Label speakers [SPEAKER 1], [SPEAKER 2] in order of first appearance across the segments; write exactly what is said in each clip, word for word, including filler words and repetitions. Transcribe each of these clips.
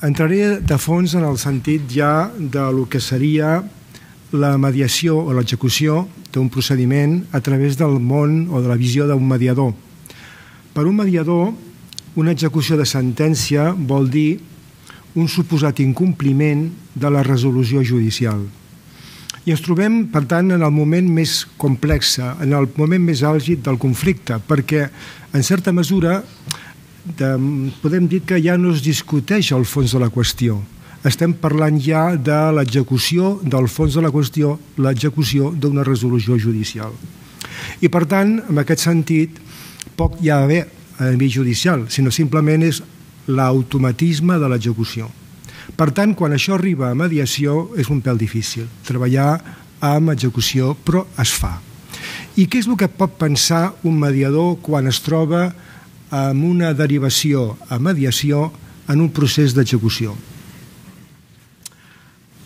[SPEAKER 1] Entraré de fons en el sentit ja del que seria la mediació o l'execució d'un procediment a través del món o de la visió d'un mediador. Per un mediador, una execució de sentència vol dir un suposat incompliment de la resolució judicial. I ens trobem, per tant, en el moment més complex, en el moment més àlgid del conflicte, perquè, en certa mesura, podem dir que ja no es discuteix el fons de la qüestió. Estem parlant ja de l'execució del fons de la qüestió, l'execució d'una resolució judicial. I, per tant, en aquest sentit, poc hi ha d'haver a nivell judicial, sinó simplement és l'automatisme de l'execució. Per tant, quan això arriba a mediació, és un pèl difícil treballar amb execució, però es fa. I què és el que pot pensar un mediador quan es troba amb una derivació a mediació en un procés d'execució?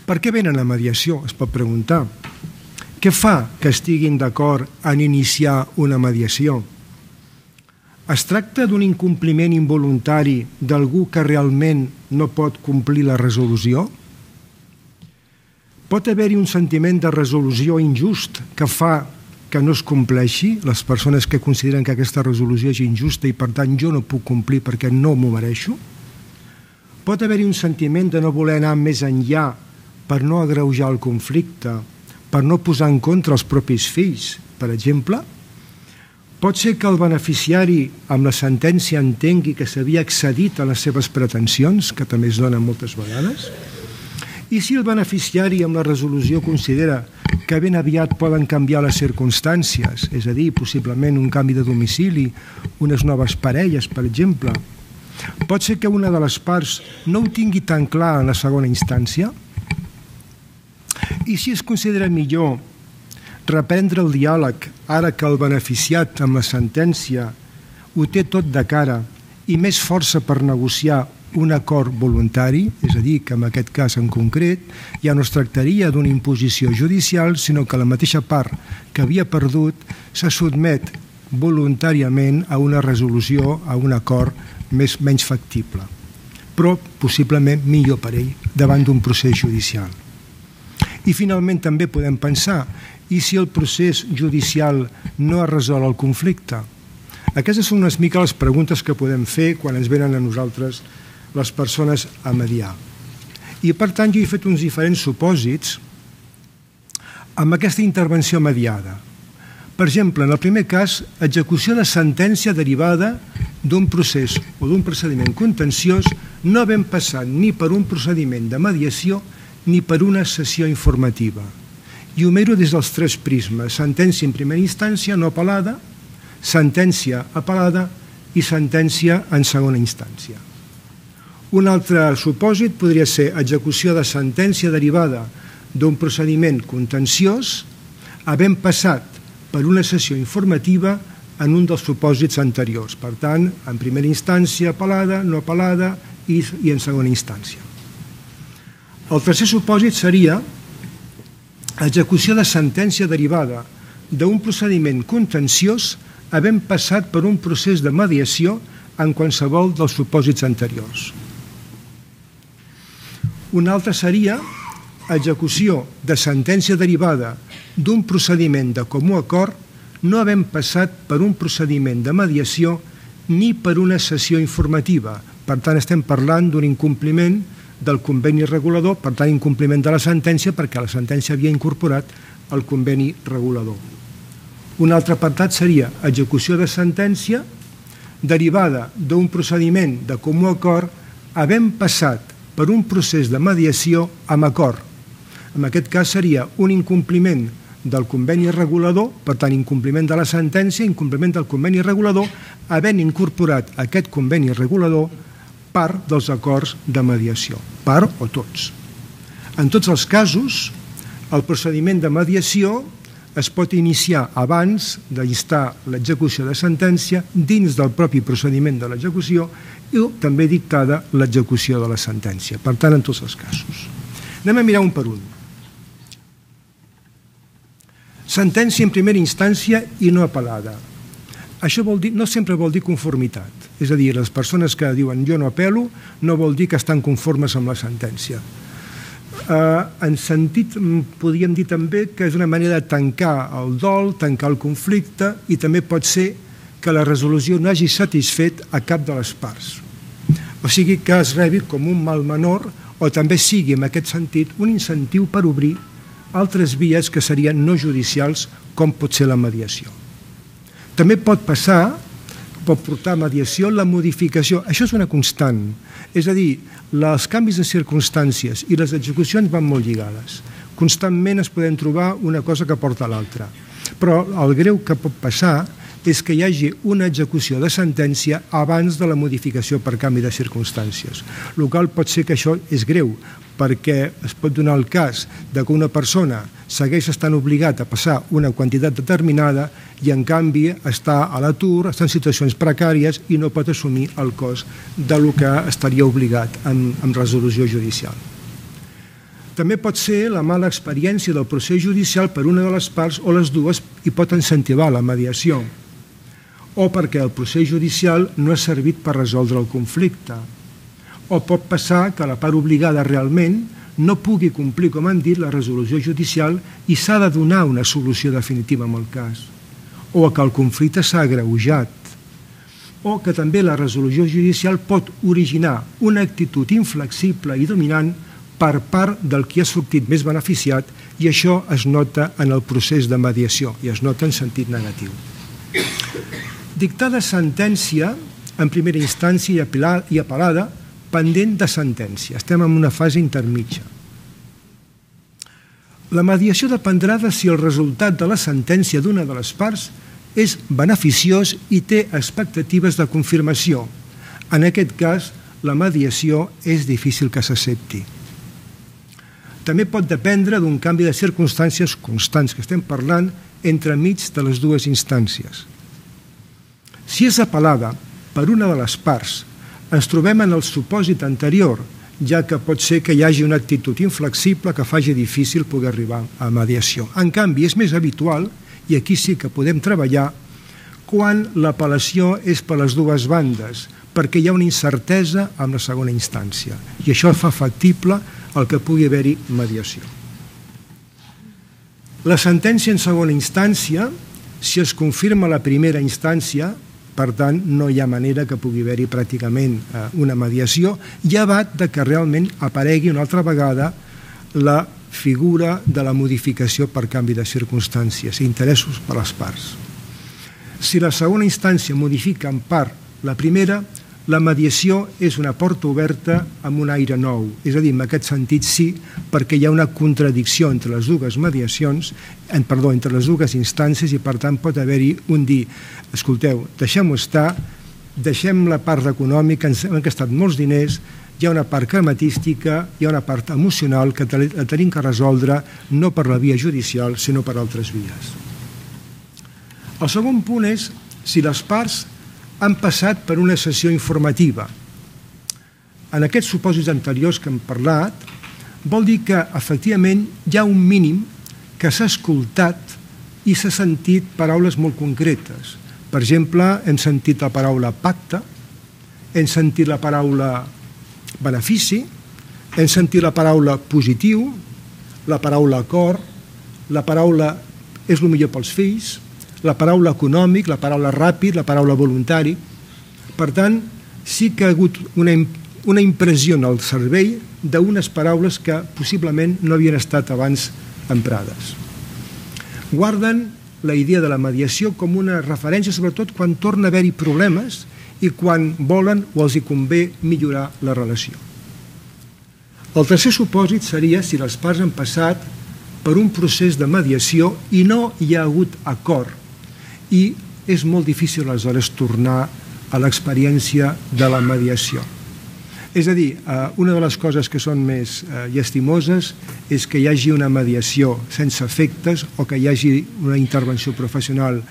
[SPEAKER 1] Per què venen a mediació? Es pot preguntar. Què fa que estiguin d'acord en iniciar una mediació? Es tracta d'un incompliment involuntari d'algú que realment no pot complir la resolució? Pot haver-hi un sentiment de resolució injust que fa que no es compleixi, les persones que consideren que aquesta resolució és injusta i per tant jo no puc complir perquè no m'ho mereixo? Pot haver-hi un sentiment de no voler anar més enllà per no agreujar el conflicte, per no posar en contra els propis fills, per exemple? Pot ser que el beneficiari amb la sentència entengui que s'havia excedit a les seves pretensions, que també es donen moltes vegades? I si el beneficiari amb la resolució considera que ben aviat poden canviar les circumstàncies, és a dir, possiblement un canvi de domicili, unes noves parelles, per exemple, pot ser que una de les parts no ho tingui tan clar en la segona instància? I si es considera millor reprendre el diàleg ara que el beneficiat amb la sentència ho té tot de cara i més força per negociar un acord voluntari, és a dir, que en aquest cas en concret ja no es tractaria d'una imposició judicial, sinó que la mateixa part que havia perdut se sotmet voluntàriament a una resolució, a un acord més, menys factible, però possiblement millor per ell davant d'un procés judicial. I finalment també podem pensar, i si el procés judicial no ha resolt el conflicte? Aquestes són unes mica les preguntes que podem fer quan ens venen a nosaltres les persones a mediar. I per tant jo he fet uns diferents supòsits amb aquesta intervenció mediada. Per exemple, en el primer cas, execució de sentència derivada d'un procés o d'un procediment contenciós no havent passat ni per un procediment de mediació ni per una sessió informativa. I ho miro des dels tres prismes: sentència en primera instància no apel·lada, sentència apel·lada i sentència en segona instància. Un altre supòsit podria ser execució de sentència derivada d'un procediment contenciós havent passat per una sessió informativa en un dels supòsits anteriors. Per tant, en primera instància apel·lada, no apel·lada i, i en segona instància. El tercer supòsit seria execució de sentència derivada d'un procediment contenciós havent passat per un procés de mediació en qualsevol dels supòsits anteriors. Un altre seria execució de sentència derivada d'un procediment de comú acord no havent passat per un procediment de mediació ni per una sessió informativa. Per tant, estem parlant d'un incompliment del conveni regulador, per tant, incompliment de la sentència, perquè la sentència havia incorporat el conveni regulador. Un altre apartat seria execució de sentència derivada d'un procediment de comú acord havent passat per un procés de mediació amb acord. En aquest cas seria un incompliment del conveni regulador, per tant, incompliment de la sentència, incompliment del conveni regulador, havent incorporat aquest conveni regulador part dels acords de mediació, part o tots. En tots els casos, el procediment de mediació es pot iniciar abans d'instar l'execució de sentència dins del propi procediment de l'execució i també dictada l'execució de la sentència. Per tant, en tots els casos. Anem a mirar un per un. Sentència en primera instància i no apel·lada. això vol dir, no sempre vol dir conformitat. És a dir, les persones que diuen jo no apel·lo no vol dir que estan conformes amb la sentència. Eh, en sentit, podríem dir també que és una manera de tancar el dol, tancar el conflicte, i també pot ser que la resolució no hagi satisfet a cap de les parts. O sigui que es rebi com un mal menor, o també sigui, en aquest sentit, un incentiu per obrir altres vies que serien no judicials, com pot ser la mediació. També pot passar, pot portar a mediació la modificació. Això és una constant. És a dir, els canvis de circumstàncies i les execucions van molt lligades. Constantment es poden trobar una cosa que porta a l'altra. Però el greu que pot passar és que hi hagi una execució de sentència abans de la modificació per canvi de circumstàncies. El qual pot ser que això és greu, perquè es pot donar el cas de que una persona segueix estant obligat a passar una quantitat determinada i en canvi està a l'atur, està en situacions precàries i no pot assumir el cost del que estaria obligat amb, amb resolució judicial. També pot ser la mala experiència del procés judicial per una de les parts o les dues i pot incentivar la mediació, o perquè el procés judicial no ha servit per resoldre el conflicte, o pot passar que la part obligada realment no pugui complir, com han dit, la resolució judicial i s'ha de donar una solució definitiva en el cas, o que el conflicte s'ha agreujat, o que també la resolució judicial pot originar una actitud inflexible i dominant per part del qui ha sortit més beneficiat, i això es nota en el procés de mediació i es nota en sentit negatiu. Dictada sentència en primera instància i apel·lada pendent de sentència. Estem en una fase intermitja. La mediació dependrà de si el resultat de la sentència d'una de les parts és beneficiós i té expectatives de confirmació. En aquest cas, la mediació és difícil que s'accepti. També pot dependre d'un canvi de circumstàncies constants que estem parlant entremig de les dues instàncies. Si és apel·lada per una de les parts, ens trobem en el supòsit anterior, ja que pot ser que hi hagi una actitud inflexible que faci difícil poder arribar a mediació. En canvi, és més habitual, i aquí sí que podem treballar, quan l'apel·lació és per les dues bandes, perquè hi ha una incertesa amb la segona instància, i això fa factible el que pugui haver-hi mediació. La sentència en segona instància, si es confirma la primera instància, per tant, no hi ha manera que pugui haver-hi pràcticament una mediació, llevat de que realment aparegui una altra vegada la figura de la modificació per canvi de circumstàncies i interessos per les parts. Si la segona instància modifica en part la primera, la mediació és una porta oberta amb un aire nou. És a dir, en aquest sentit sí, perquè hi ha una contradicció entre les dues mediacions, perdó, entre les dues instàncies, i per tant pot haver-hi un dir, escolteu, deixem-ho estar, deixem la part econòmica, ens han gastat molts diners, hi ha una part crematística, hi ha una part emocional que la tenim que resoldre no per la via judicial, sinó per altres vies. El segon punt és si les parts han passat per una sessió informativa. En aquests supòsits anteriors que hem parlat, vol dir que, efectivament, hi ha un mínim que s'ha escoltat i s'ha sentit paraules molt concretes. Per exemple, hem sentit la paraula pacte, hem sentit la paraula benefici, hem sentit la paraula positiu, la paraula acord, la paraula és el millor pels fills, la paraula econòmic, la paraula ràpid, la paraula voluntari. Per tant, sí que ha hagut una, una impressió en el cervell d'unes paraules que possiblement no havien estat abans emprades. Guarden la idea de la mediació com una referència, sobretot quan torna a haver-hi problemes i quan volen o els hi convé millorar la relació. El tercer supòsit seria si les parts han passat per un procés de mediació i no hi ha hagut acord, i és molt difícil aleshores tornar a l'experiència de la mediació. És a dir, una de les coses que són més llastimoses és que hi hagi una mediació sense efectes o que hi hagi una intervenció professional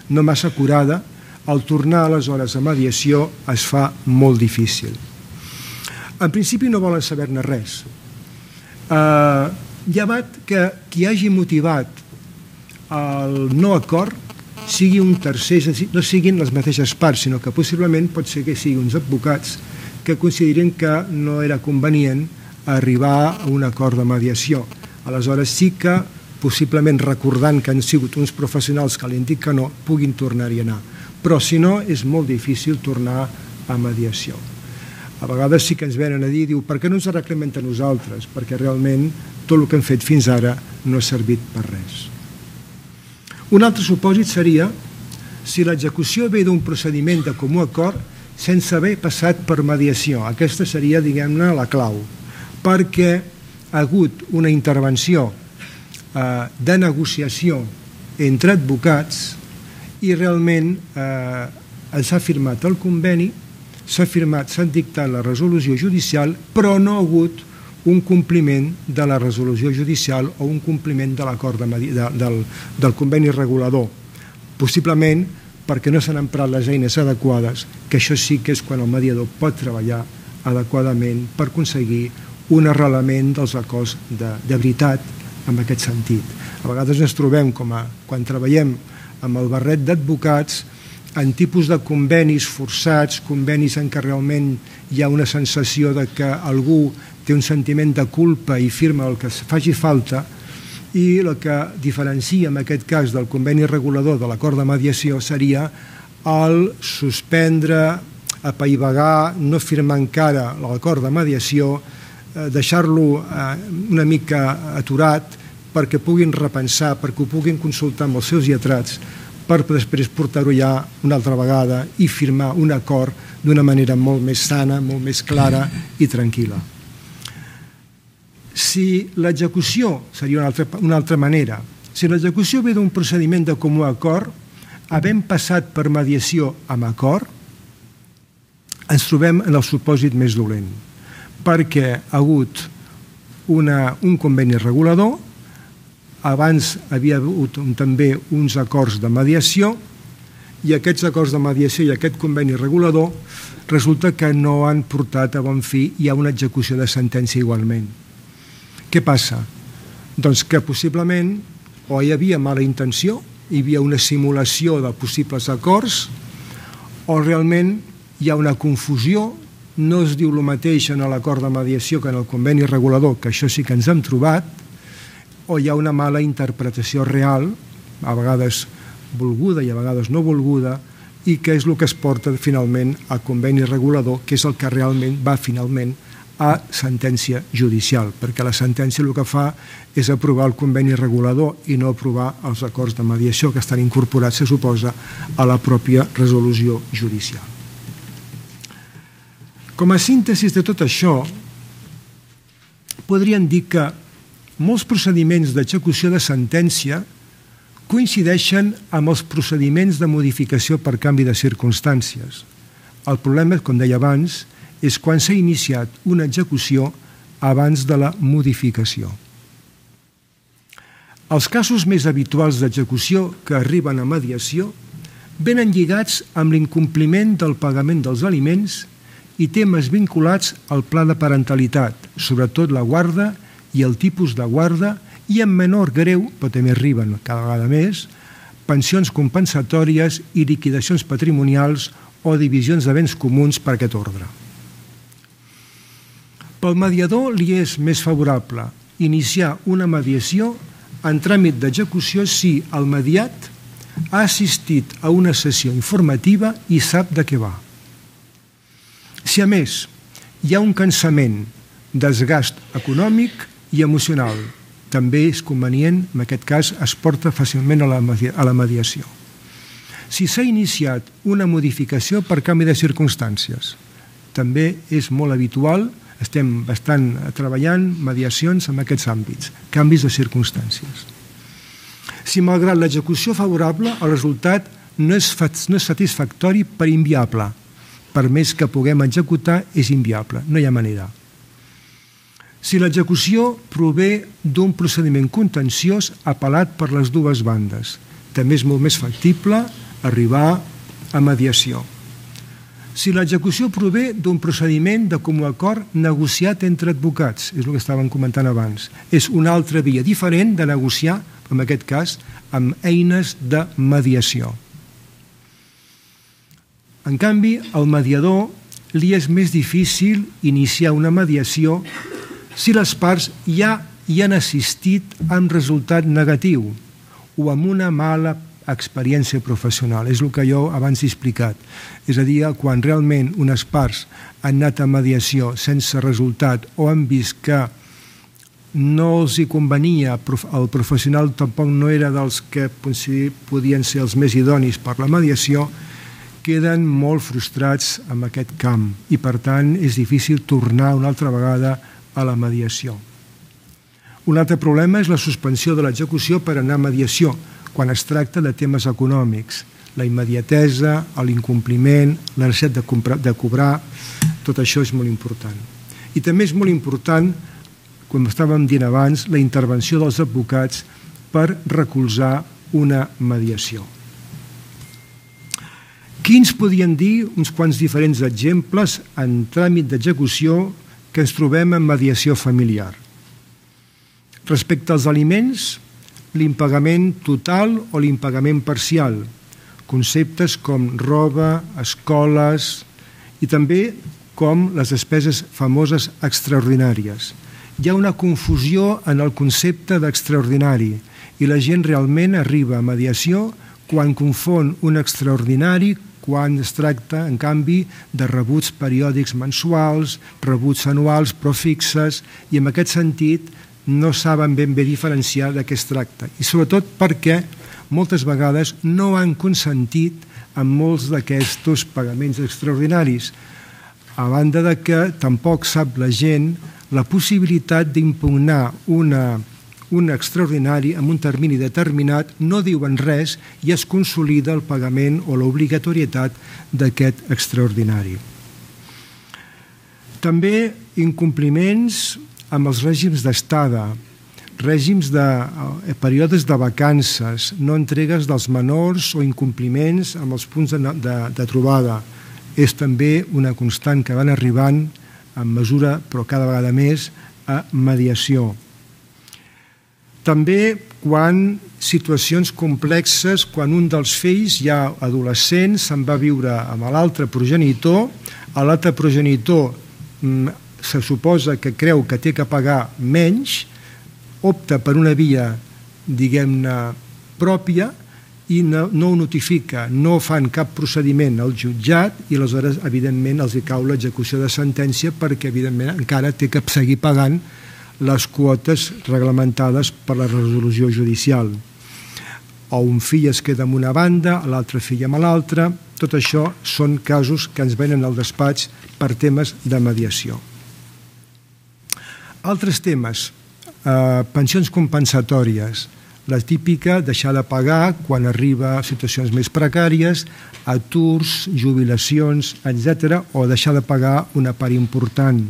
[SPEAKER 1] no massa acurada. Al tornar aleshores a mediació es fa molt difícil. En principi no volen saber-ne res. Llevat que qui hagi motivat el no acord sigui un tercer, no siguin les mateixes parts, sinó que possiblement pot ser que siguin uns advocats que considerin que no era convenient arribar a un acord de mediació. Aleshores sí que, possiblement recordant que han sigut uns professionals que li han dit que no, puguin tornar-hi a anar. Però si no, és molt difícil tornar a mediació. A vegades sí que ens venen a dir, diu, per què no ens arreglem entre nosaltres? Perquè realment tot el que hem fet fins ara no ha servit per res. Un altre supòsit seria si l'execució ve d'un procediment de comú acord sense haver passat per mediació. Aquesta seria, diguem-ne, la clau, perquè ha hagut una intervenció eh, de negociació entre advocats i realment eh, s'ha firmat el conveni, s'ha firmat, s'ha dictat la resolució judicial, però no ha hagut un compliment de la resolució judicial o un compliment de l'acord de, de, del, del conveni regulador. Possiblement perquè no s'han emprat les eines adequades, que això sí que és quan el mediador pot treballar adequadament per aconseguir un arrelament dels acords de, de veritat en aquest sentit. A vegades ens trobem, com a, quan treballem amb el barret d'advocats, en tipus de convenis forçats, convenis en què realment hi ha una sensació de que algú té un sentiment de culpa i firma el que faci falta, i el que diferencia en aquest cas del conveni regulador de l'acord de mediació seria el suspendre, apaivagar, no firmar encara l'acord de mediació, deixar-lo una mica aturat perquè puguin repensar, perquè ho puguin consultar amb els seus lletrats, per després portar-ho ja una altra vegada i firmar un acord d'una manera molt més sana, molt més clara i tranquil·la. Si l'execució, seria una altra, una altra manera, si l'execució ve d'un procediment de comú acord, havent passat per mediació amb acord, ens trobem en el supòsit més dolent, perquè ha hagut una, un conveni regulador, abans havia hagut també uns acords de mediació i aquests acords de mediació i aquest conveni regulador resulta que no han portat a bon fi i hi ha una execució de sentència igualment. Què passa? Doncs que possiblement o hi havia mala intenció, hi havia una simulació de possibles acords o realment hi ha una confusió, no es diu el mateix en l'acord de mediació que en el conveni regulador, que això sí que ens hem trobat, o hi ha una mala interpretació real, a vegades volguda i a vegades no volguda, i que és el que es porta finalment a conveni regulador, que és el que realment va finalment a sentència judicial, perquè la sentència el que fa és aprovar el conveni regulador i no aprovar els acords de mediació que estan incorporats, se suposa, a la pròpia resolució judicial. Com a síntesi de tot això, podríem dir que molts procediments d'execució de sentència coincideixen amb els procediments de modificació per canvi de circumstàncies. El problema, com deia abans, és quan s'ha iniciat una execució abans de la modificació. Els casos més habituals d'execució que arriben a mediació venen lligats amb l'incompliment del pagament dels aliments i temes vinculats al pla de parentalitat, sobretot la guarda i el tipus de guarda, i en menor greu, però també arriben cada vegada més, pensions compensatòries i liquidacions patrimonials o divisions de béns comuns per aquest ordre. Pel mediador li és més favorable iniciar una mediació en tràmit d'execució si el mediat ha assistit a una sessió informativa i sap de què va. Si a més hi ha un cansament, desgast econòmic i emocional, també és convenient, en aquest cas es porta fàcilment a la mediació. Si s'ha iniciat una modificació per canvi de circumstàncies, també és molt habitual, estem bastant treballant mediacions en aquests àmbits, canvis de circumstàncies. Si malgrat l'execució favorable el resultat no és satisfactori per inviable, per més que puguem executar és inviable, no hi ha manera. Si l'execució prové d'un procediment contenciós apel·lat per les dues bandes, també és molt més factible arribar a mediació. Si l'execució prové d'un procediment de comú acord negociat entre advocats, és el que estàvem comentant abans, és una altra via diferent de negociar, en aquest cas, amb eines de mediació. En canvi, al mediador li és més difícil iniciar una mediació si les parts ja hi han assistit amb resultat negatiu o amb una mala experiència professional. És el que jo abans he explicat. És a dir, quan realment unes parts han anat a mediació sense resultat o han vist que no els hi convenia, el professional tampoc no era dels que podien ser els més idonis per la mediació, queden molt frustrats en aquest camp i, per tant, és difícil tornar una altra vegada a la mediació. Un altre problema és la suspensió de l'execució per anar a mediació, quan es tracta de temes econòmics. La immediatesa, l'incompliment, la necessitat de cobrar, tot això és molt important. I també és molt important, com estàvem dient abans, la intervenció dels advocats per recolzar una mediació. Quins podien dir uns quants diferents exemples en tràmit d'execució que ens trobem en mediació familiar? Respecte als aliments, l'impagament total o l'impagament parcial, conceptes com roba, escoles i també com les despeses famoses extraordinàries. Hi ha una confusió en el concepte d'extraordinari i la gent realment arriba a mediació quan confon un extraordinari quan es tracta, en canvi, de rebuts periòdics mensuals, rebuts anuals però fixes, i en aquest sentit no saben ben bé diferenciar de què es tracta. I sobretot perquè moltes vegades no han consentit en molts d'aquests pagaments extraordinaris, a banda de que tampoc sap la gent la possibilitat d'impugnar una un extraordinari amb un termini determinat, no diuen res i es consolida el pagament o l'obligatorietat d'aquest extraordinari. També incompliments amb els règims d'estada, règims de períodes de vacances, no entregues dels menors o incompliments amb els punts de, de, de trobada. És també una constant que van arribant en mesura, però cada vegada més, a mediació. També quan situacions complexes, quan un dels fills, ja adolescent, se'n va viure amb l'altre progenitor, l'altre progenitor se suposa que creu que té que pagar menys, opta per una via, diguem-ne, pròpia i no, no ho notifica, no fan cap procediment al jutjat i aleshores, evidentment, els hi cau l'execució de sentència perquè, evidentment, encara té que seguir pagant les quotes reglamentades per la resolució judicial. O un fill es queda amb una banda, l'altre fill amb l'altra. Tot això són casos que ens venen al despatx per temes de mediació. Altres temes, eh, pensions compensatòries. La típica, deixar de pagar quan arriba a situacions més precàries, aturs, jubilacions, etcètera, o deixar de pagar una part important.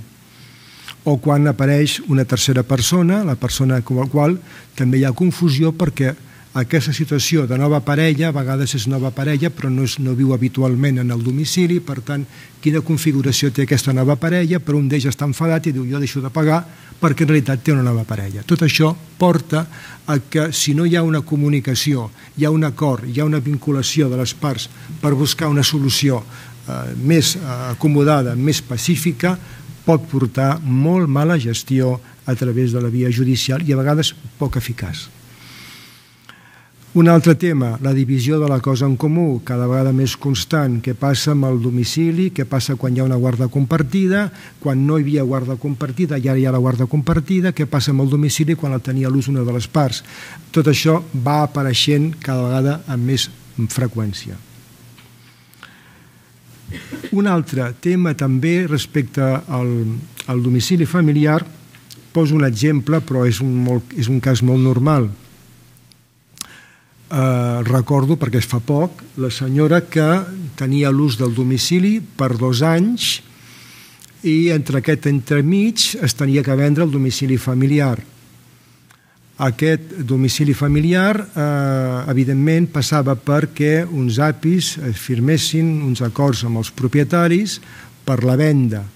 [SPEAKER 1] O quan apareix una tercera persona, la persona amb la qual també hi ha confusió perquè aquesta situació de nova parella, a vegades és nova parella però no, és, no viu habitualment en el domicili, per tant, quina configuració té aquesta nova parella, però un d'ells està enfadat i diu jo deixo de pagar perquè en realitat té una nova parella. Tot això porta a que si no hi ha una comunicació, hi ha un acord, hi ha una vinculació de les parts per buscar una solució eh, més eh, acomodada, més pacífica, pot portar molt mala gestió a través de la via judicial i a vegades poc eficaç. Un altre tema, la divisió de la cosa en comú, cada vegada més constant. Què passa amb el domicili, què passa quan hi ha una guarda compartida, quan no hi havia guarda compartida i ara hi ha la guarda compartida, què passa amb el domicili quan la tenia a l'ús una de les parts. Tot això va apareixent cada vegada amb més freqüència. Un altre tema també respecte al, al domicili familiar, poso un exemple, però és un, molt, és un cas molt normal. Eh, recordo, perquè es fa poc, la senyora que tenia l'ús del domicili per dos anys i entre aquest entremig es tenia que vendre el domicili familiar. Aquest domicili familiar, eh, evidentment, passava perquè uns apis firmessin uns acords amb els propietaris per la venda.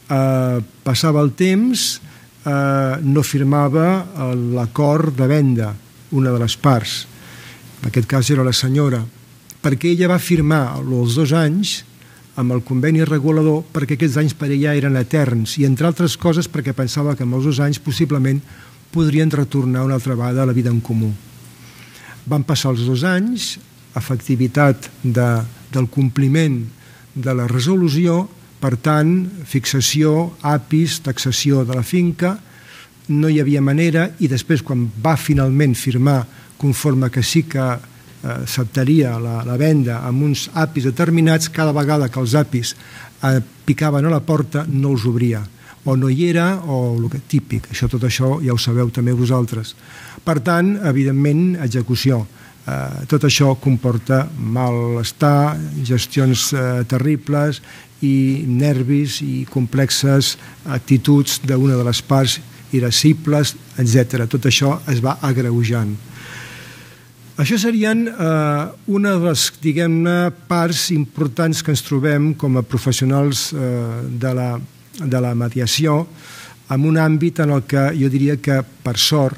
[SPEAKER 1] Eh, passava el temps, eh, no firmava l'acord de venda una de les parts, en aquest cas era la senyora, perquè ella va firmar els dos anys amb el conveni regulador perquè aquests anys per ella eren eterns i, entre altres coses, perquè pensava que amb els dos anys possiblement podrien retornar una altra vegada a la vida en comú. Van passar els dos anys, efectivitat de, del compliment de la resolució, per tant, fixació, apis, taxació de la finca, no hi havia manera, i després, quan va finalment firmar conforme que sí que acceptaria la, la venda amb uns apis determinats, cada vegada que els apis eh, picaven a la porta no els obria, o no hi era, o el que típic, això, tot això ja ho sabeu també vosaltres. Per tant, evidentment, execució. Eh, tot això comporta malestar, gestions eh, terribles i nervis i complexes actituds d'una de les parts irascibles, etcètera. Tot això es va agreujant. Això serien eh, una de les, diguem-ne, parts importants que ens trobem com a professionals eh, de, la, de la mediació en un àmbit en el que jo diria que, per sort,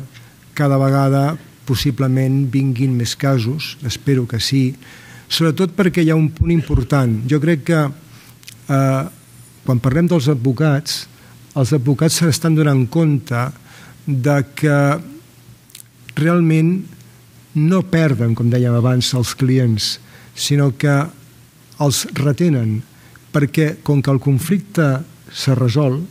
[SPEAKER 1] cada vegada possiblement vinguin més casos, espero que sí, sobretot perquè hi ha un punt important. Jo crec que eh, quan parlem dels advocats, els advocats s'estan donant compte de que realment no perden, com dèiem abans, els clients, sinó que els retenen, perquè com que el conflicte s'ha resolt,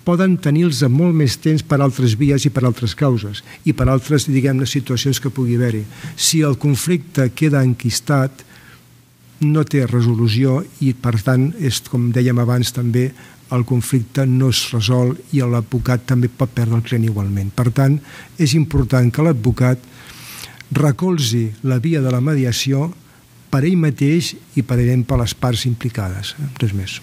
[SPEAKER 1] poden tenir-los molt més temps per altres vies i per altres causes i per altres, diguem-ne, situacions que pugui haver-hi. Si el conflicte queda enquistat, no té resolució i, per tant, és, com dèiem abans també, el conflicte no es resol i l'advocat també pot perdre el client igualment. Per tant, és important que l'advocat recolzi la via de la mediació per ell mateix i per exemple les parts implicades. Res més.